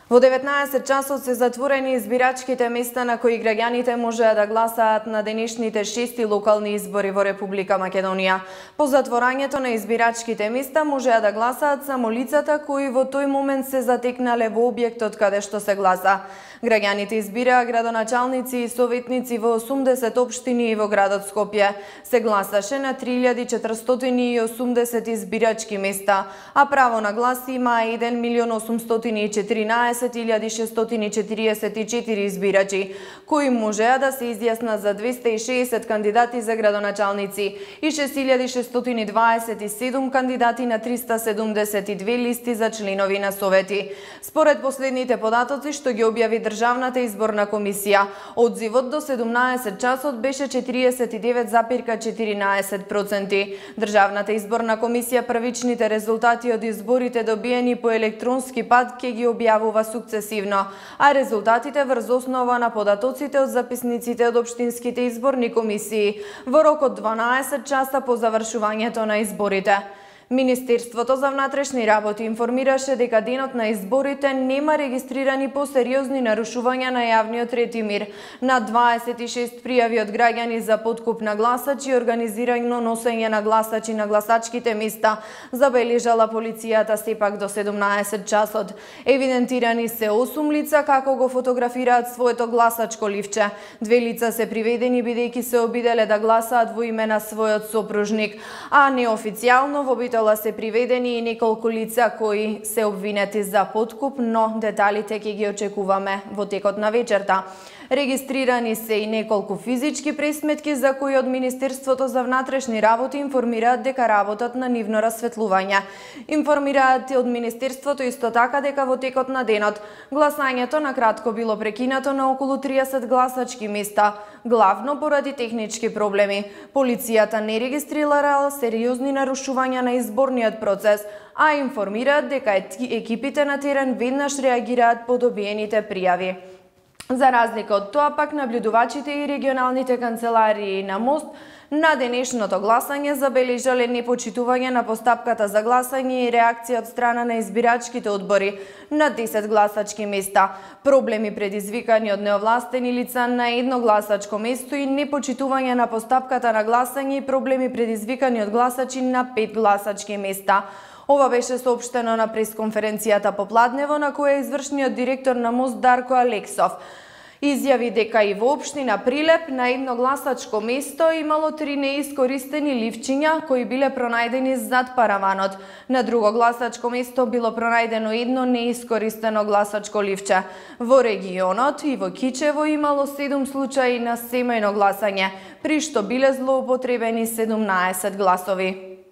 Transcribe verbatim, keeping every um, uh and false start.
Во деветнаесет часот се затворени избирачките места на кои граѓаните можеа да гласаат на денешните шести локални избори во Република Македонија. По затворањето на избирачките места можеа да гласаат само лицата кои во тој момент се затекнале во објектот каде што се гласа. Граѓаните избираа градоначалници и советници во осумдесет општини и во градот Скопје. Се гласаше на три илјади четиристотини и осумдесет избирачки места, а право на глас имаа еден милион осумстотини и четиринаесет илјади шестстотини четириесет и четири избирачи, кои можеа да се изјаснат за двесте и шеесет кандидати за градоначалници и шест илјади шестстотини дваесет и седум кандидати на триста седумдесет и две листи за членови на совети. Според последните податоци што ги објави Државната изборна комисија, одзивот до седумнаесет часот беше четириесет и девет запирка четиринаесет проценти. Државната изборна комисија првичните резултати од изборите добиени по електронски пат ќе ги објавува сукцесивно, а резултатите врз основа на податоците од записниците од општинските изборни комисии во рок од дванаесет часа по завршувањето на изборите. Министерството за внатрешни работи информираше дека денот на изборите нема регистрирани посериозни нарушувања на јавниот ред и мир. На дваесет и шест пријави од граѓани за подкуп на гласачи и организирано носење на гласачи на гласачките места забележала полицијата сепак до седумнаесет часот. Евидентирани се осум лица како го фотографираат своето гласачко ливче. Две лица се приведени бидејќи се обиделе да гласаат во име на својот сопружник, а неофицијално во се приведени и неколку лица кои се обвинети за подкуп, но деталите ќе ги очекуваме во текот на вечерта. Регистрирани се и неколку физички пресметки за кои од Министерството за внатрешни работи информираат дека работат на нивно расветлување. Информираат од Министерството исто така дека во текот на денот гласањето на кратко било прекинато на околу триесет гласачки места, главно поради технички проблеми. Полицијата не регистрирала сериозни нарушувања на изборниот процес, а информираат дека екипите на терен веднаш реагираат по добиените пријави. За разлика од тоа, пак наблюдувачите и регионалните канцеларии на МОСТ на денешното гласање забележале непочитување на постапката за гласање и реакција од страна на избирачките одбори на десет гласачки места, проблеми предизвикани од неовластени лица на едно гласачко место и непочитување на постапката на гласање и проблеми предизвикани од гласачи на пет гласачки места. Ова беше соопштено на пресконференцијата попладнево на која извршниот директор на МОСТ Дарко Алексов изјави дека и во општина Прилеп на едно гласачко место имало три неискористени ливчиња кои биле пронајдени зад параванот. На друго гласачко место било пронајдено едно неискористено гласачко ливче. Во регионот и во Кичево имало седум случаи на семејно гласање, при што биле злоупотребени седумнаесет гласови.